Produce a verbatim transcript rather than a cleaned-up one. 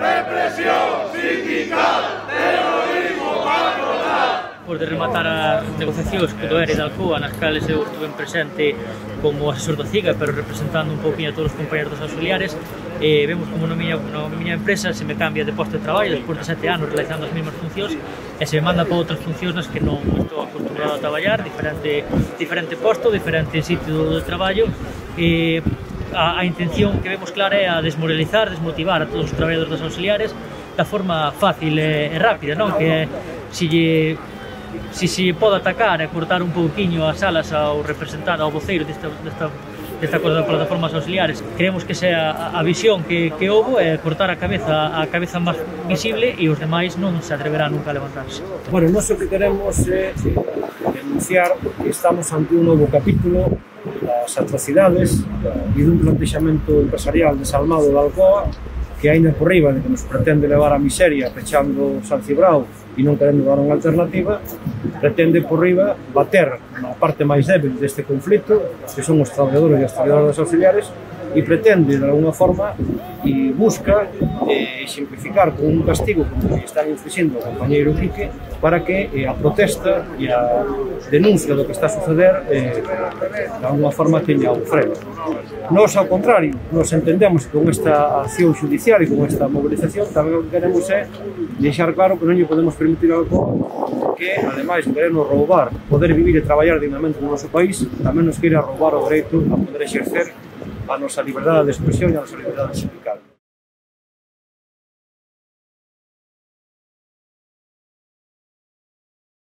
Represión sindical, terrorismo patronal. Despois de rematar as negociacións co E R E da Alcoa, nas cales eu estuve presente como asesor do CIGA, pero representando un pouquinho a todos os compañeros dos auxiliares, e vemos como na miña, na miña empresa se me cambia de posto de traballo despois de sete anos realizando as mesmas funcións e se me manda para outras funcións nas que non estou acostumbrado a traballar, diferente, diferente posto, diferente sitio de traballo, e a, a intención que vemos clara é a desmoralizar, desmotivar a todos os traballadores dos auxiliares da forma fácil e, e rápida, non? Que se lle se se pode atacar e cortar un pouquiño as alas ao representante, ao voceiro desta, desta, desta coisa das plataformas auxiliares. Creemos que sea a, a visión que, que houbo é cortar a cabeza a cabeza máis visible e os demais non se atreverán nunca a levantarse. Bueno, nós o que queremos é denunciar que estamos ante un novo capítulo das atrocidades e dun plantexamento empresarial desalmado da Alcoa que aínda por riba de que nos pretende levar a miseria pechando San Cibrao e non querendo dar unha alternativa, pretende por riba bater na parte máis débil deste conflito, que son os traballadores e as traballadoras auxiliares, e pretende, de alguna forma, e busca eh, simplificar con un castigo como que están inflixindo o compañeiro Quique para que eh, a protesta e a denuncia do que está a suceder eh, de alguna forma teña un freno. Nós, ao contrario, nos entendemos que con esta acción judicial e con esta movilización tamén o que queremos é deixar claro que non lle podemos permitir algo que, ademais de querernos roubar, poder vivir e traballar dignamente no noso país, tamén nos queira roubar o dereito a poder exercer a nosa liberdade de expresión e a nosa liberdade sindical.